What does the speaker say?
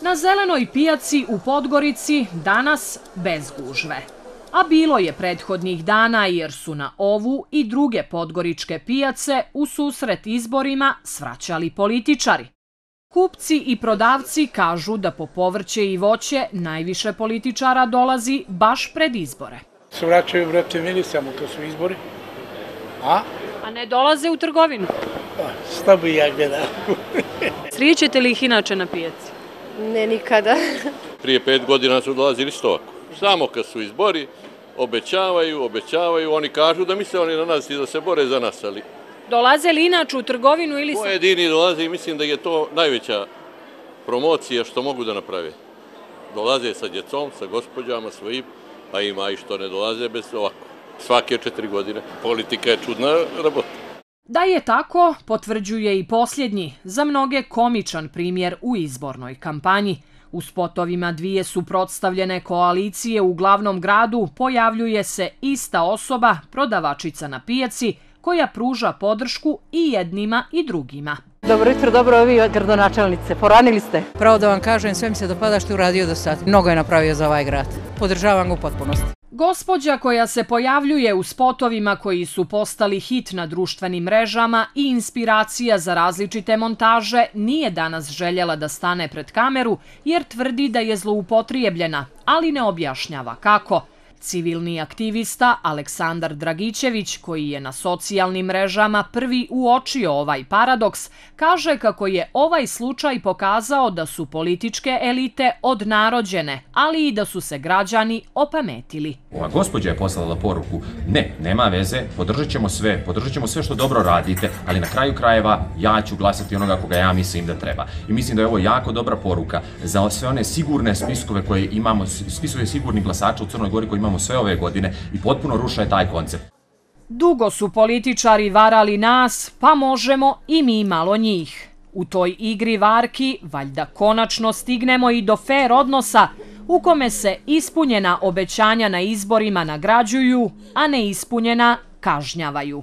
Na zelenoj pijaci u Podgorici danas bez gužve. A bilo je prethodnih dana jer su na ovu i druge podgoričke pijace u susret izborima svraćali političari. Kupci i prodavci kažu da po povrće i voće najviše političara dolazi baš pred izbore. Svraćaju, brate, meni samo kad su izbori. A ne dolaze u trgovinu? Šta bi ja gledao? Srijećete li ih inače na pijaci? Ne, nikada. Prije 5 godina su dolazili isto ovako. Samo kad su izbori, obećavaju, oni kažu da misle oni na nas i da se bore za nas, ali... Dolaze li inače u trgovinu ili... Pojedini dolaze i mislim da je to najveća promocija što mogu da naprave. Dolaze sa djecom, sa gospođama svojim, a ima i što ne dolaze bez ovako. Svake 4 godine. Politika je čudna rabota. Da je tako, potvrđuje i posljednji, za mnoge komičan primjer u izbornoj kampanji. U spotovima dvije suprotstavljene koalicije u glavnom gradu pojavljuje se ista osoba, prodavačica na pijaci, koja pruža podršku i jednima i drugima. Dobro jutro, dobro vi gradonačelnice, poranili ste? Pravo da vam kažem, sve mi se dopada što je uradio do sad. Mnogo je napravio za ovaj grad. Podržavam ga u potpunosti. Gospođa koja se pojavljuje u spotovima koji su postali hit na društvenim mrežama i inspiracija za različite montaže nije danas željela da stane pred kameru jer tvrdi da je zloupotrijebljena, ali ne objašnjava kako. Civilni aktivista Aleksandar Dragićević, koji je na socijalnim mrežama prvi uočio ovaj paradoks, kaže kako je ovaj slučaj pokazao da su političke elite odnarođene, ali i da su se građani opametili. Ova gospođa je poslala poruku, nema veze, podržat ćemo sve što dobro radite, ali na kraju krajeva ja ću glasati onoga koga ja mislim da treba. I mislim da je ovo jako dobra poruka za sve one sigurne spiskove koje imamo, spisove sigurnih glasača u Crnoj Gori koji imamo sve ove godine i potpuno ruše taj koncept. Dugo su političari varali nas, pa možemo i mi malo njih. U toj igri varki valjda konačno stignemo i do fer odnosa u kome se ispunjena obećanja na izborima nagrađuju, a neispunjena kažnjavaju.